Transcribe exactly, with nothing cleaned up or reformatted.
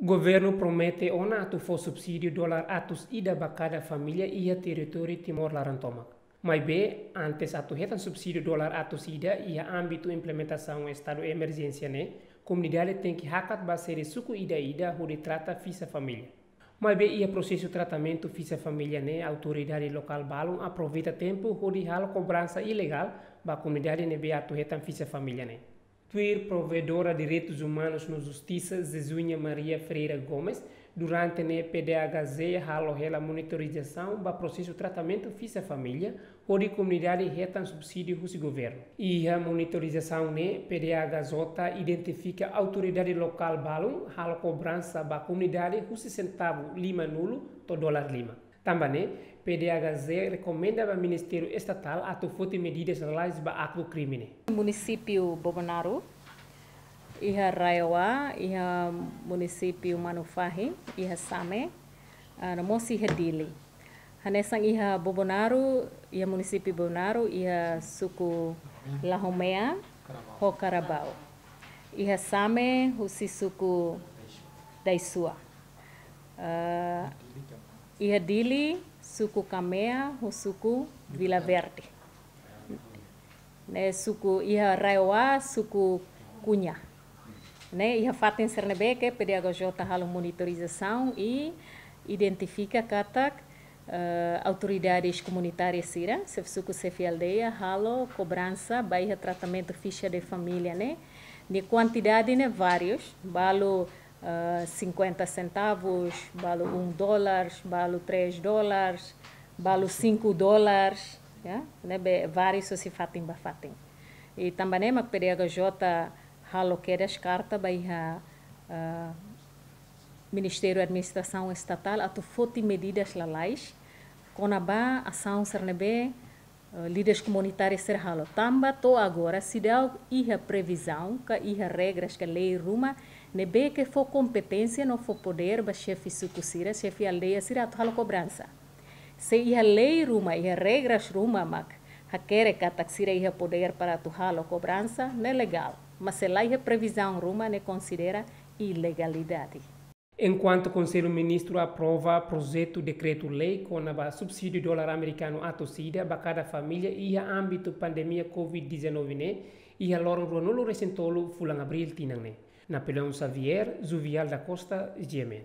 Governu promete ona atu fó subsídiu dolar atus ida ba kada família iha territóriu Timor laran tomak. Maibé, antes atu hetan subsídiu dolar atus ida iha ámbitu implementasaun estadu emerjénsia ne'e, komunidade tenke hakat ba sede suku ida-ida hodi trata fixa família. Maibé iha prosesu tratamentu fixa família ne'e, autoridade lokál balun aproveita tempu hodi halo kobransa ilegál ba komunidade ne'ebé atu hetan fixa família ne'e. Tuir provedora direitus umanus no justisa, Jesuinha Maria Ferreira Gomes, durante ne'e P D H J halo hela monitorizasaun ba prosesu tratamentu fixa família, hodi komunidade hetan subsídiu husi governu. Iha monitorizasaun ne'e, P D H J identifika autoridade lokál balun halo kobransa ba komunidade husi sentavu lima-nulu to'o dolar lima. Tanba ne'e, P D H J rekomenda ba Ministériu Estatál atu foti medidas lalais ba aktu krime ne'e. Munisípiu Bobonaro, iha RAEOA, iha munisípiu Manufahi, iha Same, ah, no mós iha Dili. Hanesan iha Bobonaro, iha munisípiu Bobonaro, iha suku Lahomea ho Karabau. Iha Same, husi suku Daisua. Ah, iha Dili, suku Kamea ho suku Vila Verde. Ne'e suku iha RAEOA, suku Kunya. Ne'e iha fatin sira ne'ebé ke P D H J halo monitorizasaun i identifika katak, eh, autoridades komunitárias sira, xefe suku, xefe aldeia, halo kobransa ba iha tratamentu fixa de família ne'e. Nia kuantidade ne'e várius, balu, ah, cinquenta centavos, balu um dólar, balu três dólares, balu cinco dólares, ya, ne'ebé várius husi fatin ba fatin. I tanba ne'e mak P D H J halo kedas karta ba iha, ah, Ministériu Administrasaun Estatál atu foti medidas lalais kona-ba asaun sira ne'ebé, eh, líderes komunitárius sira halo. Tanba to'o agora seidauk iha previzaun, ka iha regras, ka lei ruma ne'ebé ke fó kompeténsia no fó podér ba xefe suku sira, xefe aldeia sira atu halo kobransa. Se iha lei ruma, iha regras ruma mak hakerek katak sira iha podér para atu halo kobransa, ne'e legál. Mas se la iha previzaun ruma, ne'e konsidera ilegalidade. Enkuantu Konsellu Ministru aprova projetu dekretu-lei kona-ba subsídiu dolar amerikanu atus ida ba kada família iha ámbitu pandemia covid dezanove ne'e, iha loron ruanulu-resin-tolu fulan Abríl tinan ne'e. Napoleão Xavier, Juvial da Costa, G M N.